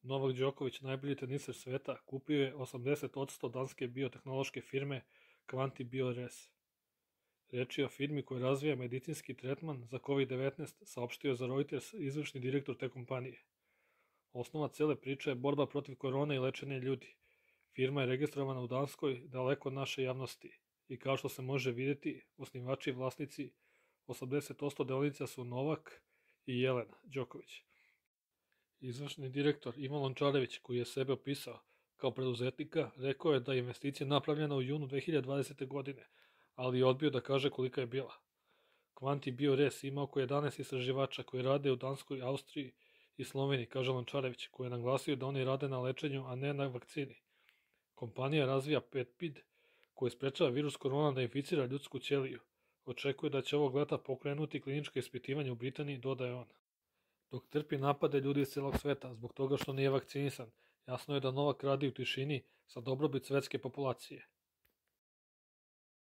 Novak Đoković, najbolji teniser sveta, kupio je 80% danske biotehnološke firme Quanti BioRes. Reč je o firmi koja razvija medicinski tretman za COVID-19, saopštio za Reuters izvršni direktor te kompanije. Osnova cele priče je borba protiv korone i lečenje ljudi. Firma je registrovana u Danskoj, daleko od naše javnosti. I kao što se može vidjeti, osnivači i vlasnici 80% delnica su Novak i Jelena Đoković. Izvršni direktor Ivan Lončarević, koji je sebe opisao kao preduzetnika, rekao je da je investicija napravljena u junu 2020. godine, ali je odbio da kaže kolika je bila. Quanti BioRes ima oko 11 istraživača koji rade u Danskoj, Austriji i Sloveniji, kaže Lončarević, koji je naglasio da oni rade na lečenju, a ne na vakcini. Kompanija razvija peptid koji sprečava virus korona da inficira ljudsku ćeliju. Očekuje da će ovog leta pokrenuti kliničko ispitivanje u Britaniji, dodaje on. Dok trpi napade ljudi iz celog sveta zbog toga što nije vakcinisan, jasno je da Novak radi u tišini za dobrobit svetske populacije.